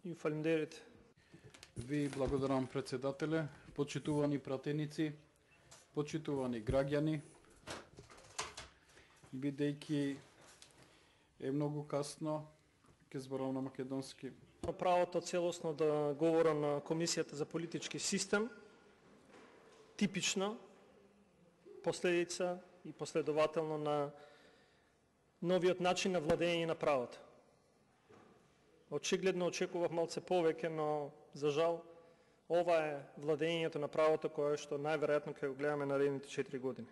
и фалимдерите. Ви благодарам, председателе, почитувани пратеници, почитувани граѓани, бидејќи е многу касно, ќе зборам на македонски. Правото целосно да говорам на Комисијата за политички систем, типична последица и последователно на новиот начин на владење на правото. Очигледно очекував малце повеќе, но за жал ова е владењето на правото кое што најверојатно ќе го гледаме наредните 4 години.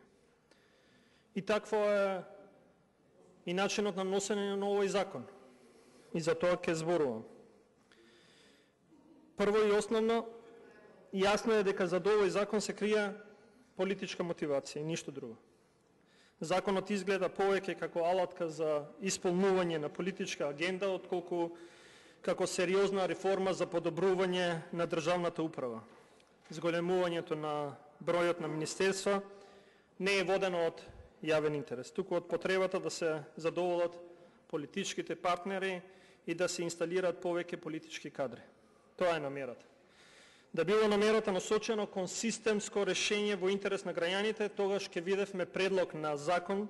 И такво е и начинот на носење на овој закон. И за тоа ќе зборувам. Прво и основно, јасно е дека за овој закон се крие политичка мотивација и ништо друго. Законот изгледа повеќе како алатка за исполнување на политичка агенда, отколку како сериозна реформа за подобрување на државната управа. Зголемувањето на бројот на министерства не е водено од јавен интерес, туку од потребата да се задоволат политичките партнери и да се инсталираат повеќе политички кадри. Тоа е намерата. Да било намерата насочено кон системско решение во интерес на граѓаните, тогаш ќе видевме предлог на закон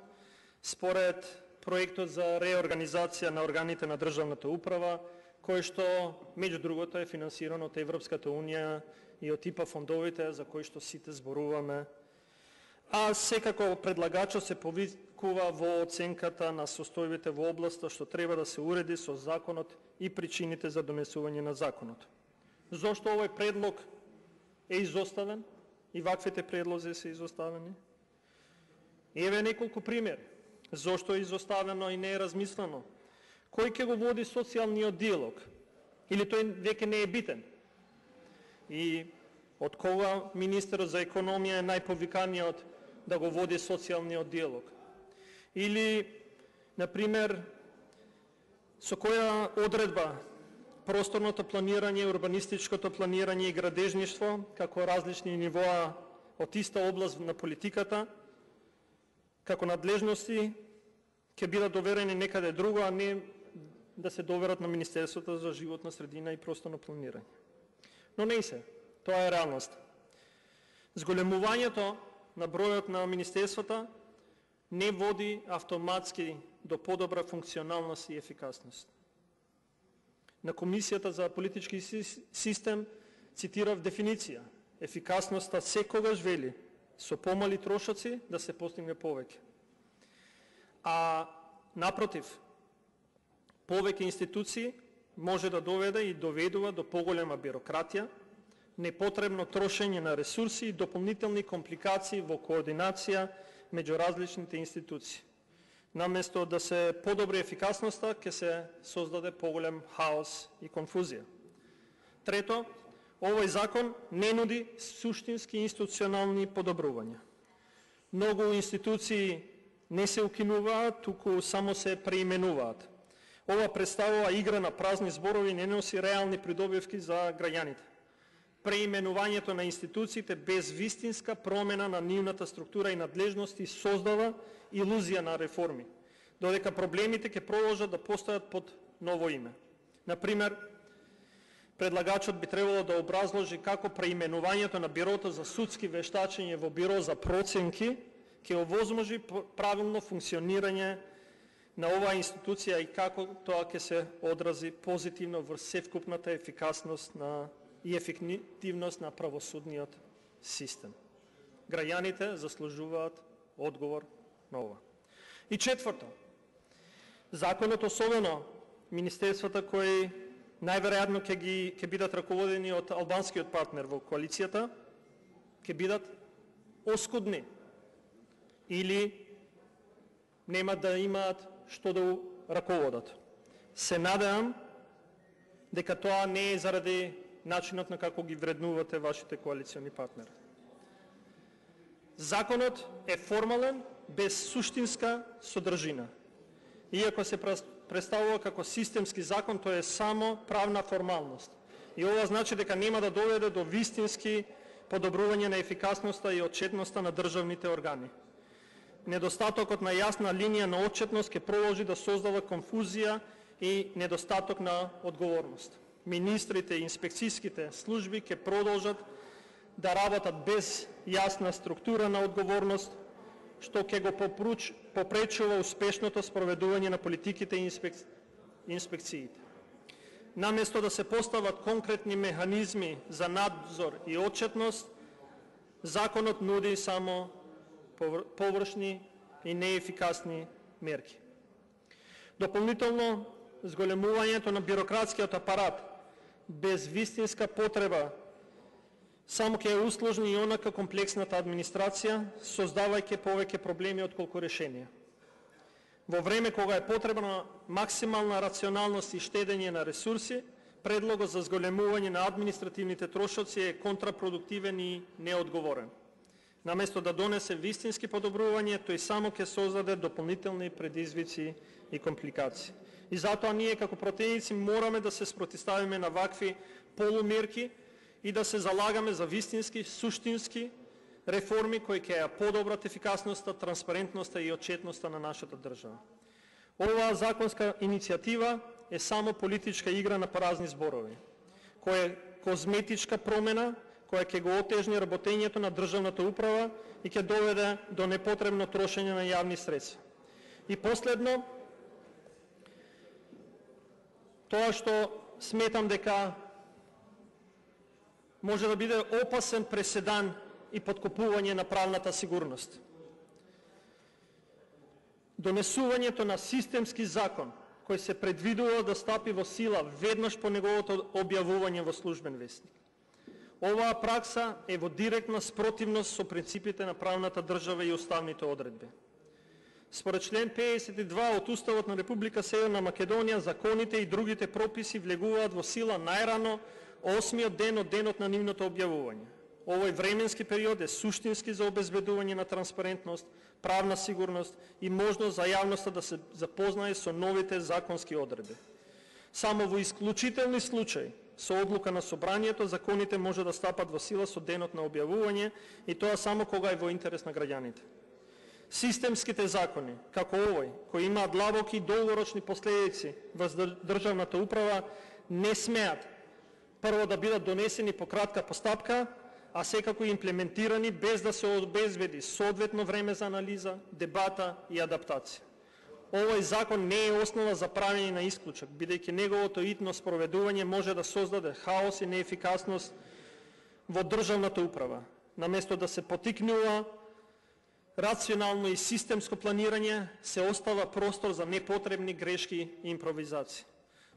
според проектот за реорганизација на органите на државната управа, кој што, меѓу другото, е финансиран од Европската Унија и од ИПА фондовите, за кои што сите зборуваме. А секако предлагачот се повикува во оценката на состојбите во областа што треба да се уреди со законот и причините за донесување на законот. Зошто овој предлог е изоставен и ваквите предлози се изоставени? Еве неколку примери. Зошто е изоставено и не е размислено? Кој ќе го води социјалниот диалог? Или тој веќе не е битен? И од кога министерот за економија е најповиканиот да го води социјалниот диалог? Или, например, со која одредба просторното планирање, урбанистичкото планирање и градежништво, како различни нивоа од иста област на политиката, како надлежности, ќе бидат доверени некаде друго, а не да се доверат на Министерството за животна средина и просторно планирање. Но не се, тоа е реалност. Зголемувањето на бројот на министерствата не води автоматски до подобра функционалност и ефикасност. На Комисијата за политички систем цитирав дефиниција. Ефикасноста секогаш вели со помали трошоци да се постигне повеќе. А напротив, повеќе институции може да доведе и доведува до поголема бирократија, непотребно трошење на ресурси и дополнителни компликации во координација меѓу различните институции. Наместо да се подобри ефикасноста, ќе се создаде поголем хаос и конфузија. Трето, овој закон не нуди суштински институционални подобрувања. Многу институции не се укинуваат, туку само се преименуваат. Ова представува игра на празни зборови и не носи реални придобивки за граѓаните. Преименувањето на институциите без вистинска промена на нивната структура и надлежности создава илузија на реформи, додека проблемите ќе продолжат да постојат под ново име. Например, предлагачот би требало да образложи како преименувањето на Бирото за судски вештачење во Биро за проценки ќе овозможи правилно функционирање на оваа институција и како тоа ќе се одрази позитивно врз севкупната ефикасност и ефективност на правосудниот систем. Граѓаните заслужуваат одговор на ова. И четврто, законот, особено министерствата кои најверојатно ќе бидат раководени од албанскиот партнер во коалицијата, ќе бидат оскудни или нема да имаат што да раководат. Се надевам дека тоа не е заради начинот на како ги вреднувате вашите коалициони партнери. Законот е формален, без суштинска содржина. Иако се представува како системски закон, тој е само правна формалност. И ова значи дека нема да доведе до вистински подобрување на ефикасноста и отчетноста на државните органи. Недостатокот на јасна линија на отчетност ќе продолжи да создава конфузија и недостаток на одговорност. министрите и инспекцијските служби ќе продолжат да работат без јасна структура на одговорност, што ќе го попречува успешното спроведување на политиките и инспекциите. Наместо да се постават конкретни механизми за надзор и отчетност, законот нуди само површни и неефикасни мерки. Дополнително, зголемувањето на бирократскиот апарат без вистинска потреба само ќе усложни и онака комплексната администрација, создавајќи повеќе проблеми отколку решенија. Во време кога е потребна максимална рационалност и штедење на ресурси, предлогот за зголемување на административните трошоци е контрапродуктивен и неодговорен. Наместо да донесе вистински подобрување, тој само ќе создаде дополнителни предизвици и компликации. И затоа ние како противници мораме да се спротивставиме на вакви полумерки и да се залагаме за вистински, суштински реформи кои ќе ја подобрат ефикасноста, транспарентноста и отчетноста на нашата држава. Оваа законска иницијатива е само политичка игра на празни зборови, која е козметичка промена, која ќе го отежни работењето на државната управа и ќе доведе до непотребно трошење на јавни средства. И последно, тоа што сметам дека може да биде опасен преседан и подкопување на правната сигурност. Донесувањето на системски закон, кој се предвидува да стапи во сила веднаш по неговото објавување во службен весник. Оваа пракса е во директна спротивност со принципите на правната држава и уставните одредби. Според член 52 од Уставот на Република Северна Македонија, законите и другите прописи влегуваат во сила најрано 8-миот ден од денот на нивното објавување. Овој временски период е суштински за обезбедување на транспарентност, правна сигурност и можност за јавноста да се запознае со новите законски одредби. Само во исклучителни случаи, со одлука на собранието, законите може да стапат во сила со денот на објавување и тоа само кога е во интерес на граѓаните. Системските закони, како овој, кои имаат длабоки и долгорочни последици во државната управа, не смеат прво да бидат донесени по кратка постапка, а секако имплементирани без да се обезбеди соодветно време за анализа, дебата и адаптација. Овој закон не е основа за правење на исклучок, бидејќи неговото итно спроведување може да создаде хаос и неефикасност во државната управа. Наместо да се потикнува рационално и системско планирање, се остава простор за непотребни грешки и импровизации.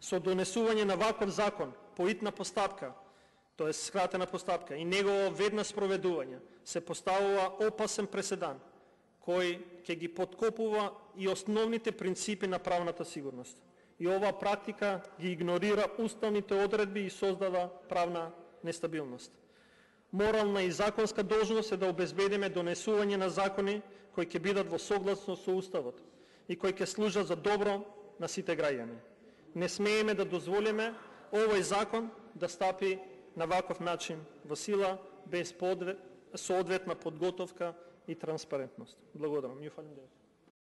Со донесување на ваков закон по итна постапка, тоа е скратена постапка, и негово веднаш спроведување, се поставува опасен преседан, кој ќе ги подкопува и основните принципи на правната сигурност. И оваа практика ги игнорира уставните одредби и создава правна нестабилност. Морална и законска должност е да обезбедиме донесување на закони кои ќе бидат во согласност со Уставот и кои ќе служат за добро на сите граѓани. Не смееме да дозволиме овој закон да стапи на ваков начин во сила без соодветна подготовка и транспарентност. Благодарам.